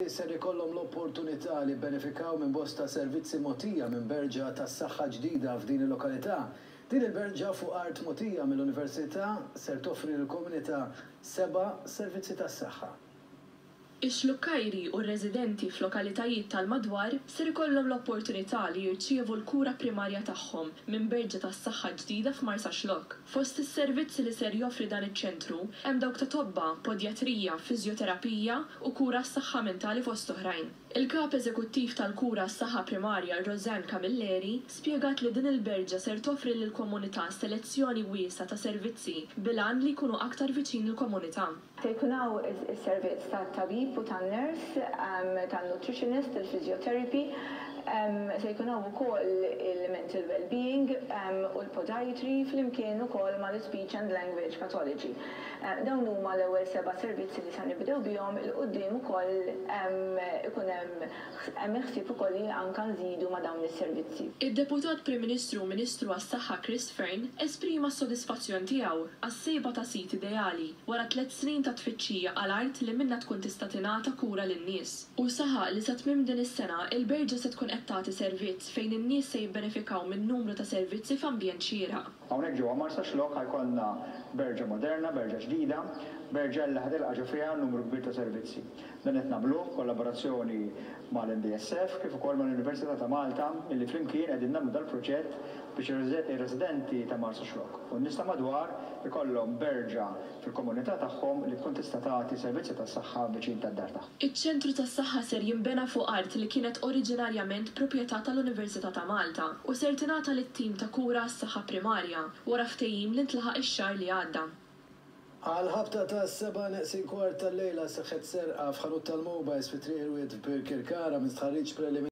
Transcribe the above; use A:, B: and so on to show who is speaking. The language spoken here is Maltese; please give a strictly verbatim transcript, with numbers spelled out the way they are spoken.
A: Ser ikollhom l-opportunità li jibbenefikaw minn bosta servizzi mogħtija minn berġa tas-saħħa ġdida f'din il-lokalità. Din il-berġa fuq art mogħtija mill-Università ser toffri lill-komunità seba' servizzi tas-saħħa.
B: Ix-Xlukkajri u r-residenti f'lokalitajiet tal-madwar ser ikollhom l-opportunità li jirċievu l-kura primarja tagħhom minn berġa tas-saħħa ġdida f'Marsaxlokk. Fost is-servizzi li ser joffri dan iċ-ċentru hemm dawk ta' tobba, podjatrija, fiżjoterapija u kura s-saħħa mentali, fost oħrajn. Il-kap eżekuttiv tal-kura s-saħħa primarja, Rosanne Camilleri, spjegat li din il-berġa ser toffri lill-komunità selezzjoni wiesgħa ta' servizzi bil-għan li jkunu aktar viċin il-komunità.
C: Se jkun hawn is-servizz tat-tabib u tan-nurse, tan-nutritionist, il-physiotherapy, se jkun hawn ukoll il-mental well-being u l-podiatry flimkien ukoll mal-speech and language pathology. Dawn huma l-ewwel seba' servizzi li se nibdew bihom. 'Il quddiem ukoll ikun hemm hemm ħsieb ukoll li anke nżidu ma' dawn is-servizzi.
B: Id-Deputat Prim Ministru u Ministru għas-Saħħa Chris Fearne esprima s-sodisfazzjon tiegħu għas-sejba ta' sit ideali wara tliet snin ta' tfittxija għal art li minnha tkun tista' tingħata kura lin-nies. U saħaq li sa tmiem din is-sena il-berġa se tkun qed tagħti servizz fejn in-nies se jibbenefikaw minn numru ta' servizzi f'ambjent xieraq.
D: Hawnhekk ġewwa Marsaxlokk ħa jkollna berġa moderna, berġa ġdida, berġa li ħa tilqa' ġo fiha numru kbir ta' servizzi. Dan qed nagħmluh kollaborazzjoni mal-M D S F kif ukoll mal-Università ta' Malta, illi flimkien qegħdin nagħmlu dal-proġett biex ir-residenti ta' Marsaxlokk u n-nies ta' madwar ikollhom berġa fil-komunità tagħhom li tkun tista' tagħti servizzi tas-saħħa viċin tad-dar tagħhom.
B: Iċ-ċentru tas-saħħa ser jinbena fuq art li kienet oriġinarjament proprjetà tal-Università ta' Malta u ser tingħata lit-tim ta' kura għas-saħħa primarja wara ftehim li ntlaħaq ix-xahar li għadda.
A: Għal-ħabta ta' seba' neqsin kwart tal-lejla seħħet serqa f'ħanut tal-mobiles fi Triq il-Wied f'Birkirkara. Minn stħarriġ preliminari